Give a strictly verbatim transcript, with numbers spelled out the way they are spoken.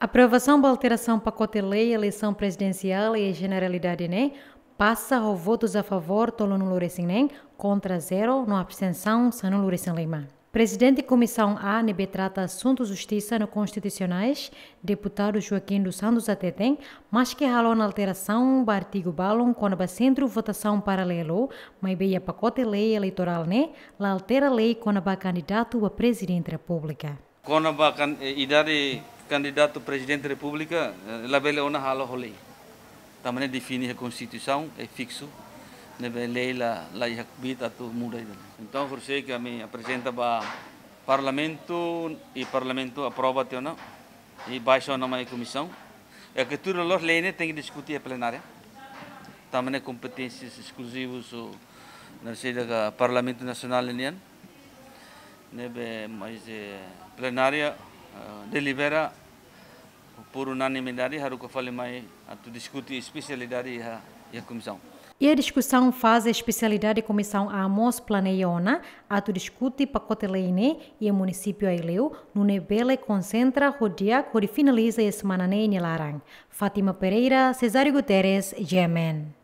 Aprovasaun ba alterasaun pakote lei eleisaun prezidensiál iha jeneralidade ne'e pasa ho votus a favór tolunulu resin neen, kontra zero, no abstensaun sanulu resin lima. Prezidente Komisaun A ne'ebé trata asuntu justisa no konstitusionais, deputadu Joaquim dos Santos hateten, maske halo ona alterasaun ba artigu balun kona-ba sentru votasaun paralelu, maibé iha pakote lei eleitorál ne'e la altera lei kona-ba kandidatu ba Prezidente Repúblika. Kona-ba kan, eh, idade kandidatu Prezidente Repúblika, eh, labele ona halo ho lei. Tanba ne'e define iha Konstituisaun, é fiksu, ne'ebé lei la, la iha kbiit atu muda ida-ne'e. Entaun, horisehik ami aprezenta ba Parlamentu, i Parlamentu aprova tiha ona, i baixa ona mai komisaun. I ke tuir loloos lei ne'e tenke diskute iha plenária. Tanba ne'e kompeténsias eskluzivas ho, na sida ka Parlamentu Nasionál nian. Ne'ebé, mais, eh, plenária, eh, delibera por unanimidade, haruka fali mai atu diskute espesialidade iha, iha komisaun. Iha diskusaun faze espesialidade Komisaun A mós planeia ona atu diskute pakote lei ne'e iha munisípiu Aileu, nune'e bele konsentra ho di'ak hodi finaliza iha semana ne'e nia laran. Fátima Pereira, Cesário Guterres, G M N.